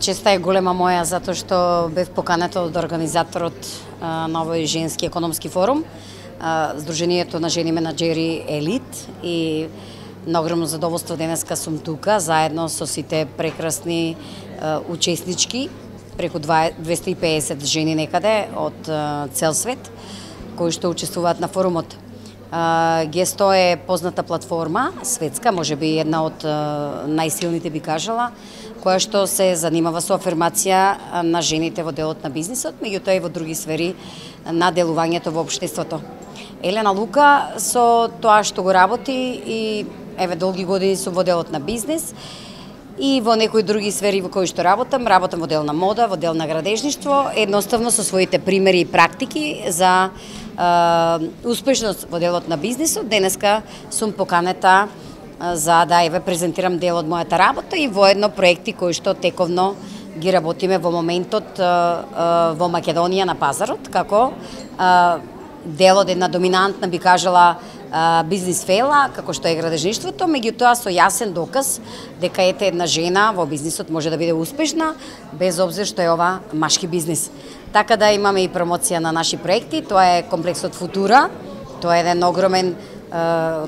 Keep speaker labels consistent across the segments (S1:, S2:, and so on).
S1: Честа е голема моја затоа што бев поканета од организаторот на овој женски економски форум, Сдруженијето на жени менаџери Елит, и на огромно задоволство денеска сум тука заедно со сите прекрасни учеснички, преку 250 жени некаде од цел свет кои што учествуваат на форумот. Гесто е позната платформа, светска, можеби една од најсилните би кажала, која што се занимава со афирмација на жените во делот на бизнисот, меѓутоа и во други сфери на делувањето во општеството. Елена Лука со тоа што го работи и еве долги години сум во делот на бизнис и во некои други сфери во кои што работам во дел на мода, во дел на градежништво, едноставно со своите примери и практики за успешност во делот на бизнисот. Денеска сум поканета за да еве презентирам дел од мојата работа и воедно проекти кои што тековно ги работиме во моментот во Македонија на пазарот, како дел од една доминантна би кажала бизнис фела, како што е градежништвото, меѓутоа со јасен доказ дека ете една жена во бизнисот може да биде успешна без обзир што е ова машки бизнис. Така да имаме и промоција на наши проекти, тоа е комплексот Футура, тоа е еден огромен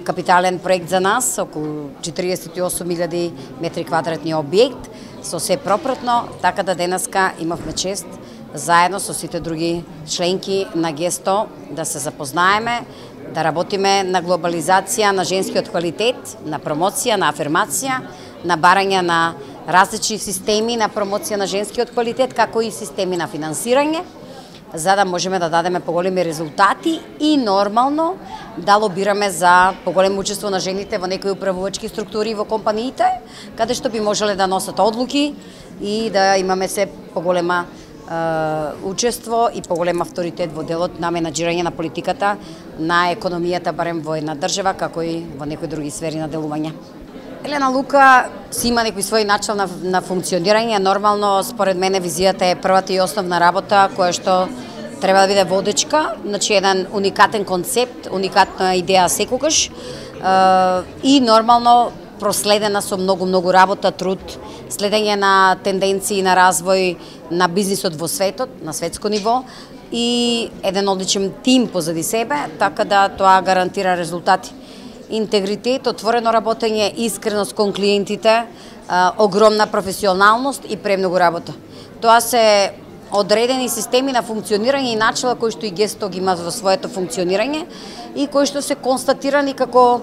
S1: капитален проект за нас, околу 48.000 метри квадратни објект, со се пропратно, така да денеска имавме чест заедно со сите други членки на Гесто да се запознаеме, да работиме на глобализација на женскиот квалитет, на промоција, на афирмација, на барање на различни системи на промоција на женскиот квалитет, како и системи на финансирање, за да можеме да дадеме поголеми резултати и нормално да лобираме за поголемо учество на жените во некои управувачки структури во компаниите, каде што би можеле да носат одлуки и да имаме се поголема учество и поголем авторитет во делот на менаџирање на политиката, на економијата, барем во една држава, како и во некои други сфери на делување. Елена Лука си има некој свој начин на функционирање. Нормално, според мене, визијата е првата и основна работа која што треба да биде водечка, значи еден уникатен концепт, уникатна идеја секогаш и нормално проследена со многу работа, труд, следење на тенденции на развој на бизнисот во светот, на светско ниво и еден одличен тим позади себе, така да тоа гарантира резултати. Интегритет, отворено работење, искреност кон клиентите, огромна професионалност и премногу работа. Тоа се одредени системи на функционирање и начела кои што и Гесто ги има во своето функционирање и кои што се констатирани како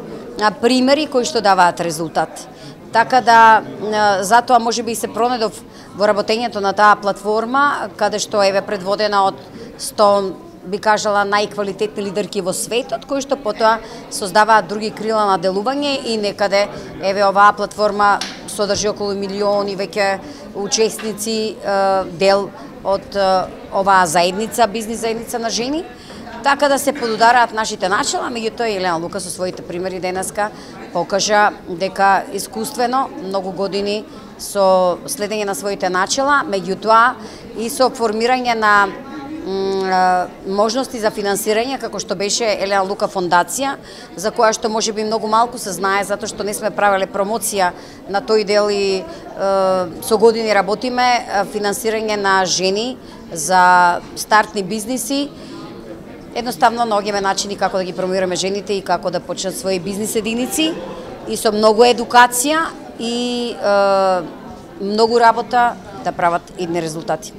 S1: примери кои што даваат резултат. Така да затоа можеби и се пронедов во работењето на таа платформа, каде што е предводена од 100 би кажала најквалитетни лидерки во светот, кои што потоа создаваат други крила на делување и некаде еве оваа платформа содржи околу милиони веќе учесници, дел од оваа заедница, бизнис заедница на жени, така да се подудараат нашите начала, меѓутоа Елена Лука со своите примери денеска покажа дека искуствено многу години со следење на своите начала, меѓутоа и со формирање на можности за финансирање, како што беше Елена Лука фондација, за која што можеби многу малку се знае, затоа што не сме правеле промоција на тој дел и со години работиме финансирање на жени за стартни бизниси. Едноставно наоѓаме начини како да ги промовираме жените и како да почнат своји бизнис единици и со многу едукација и многу работа да прават идни резултати.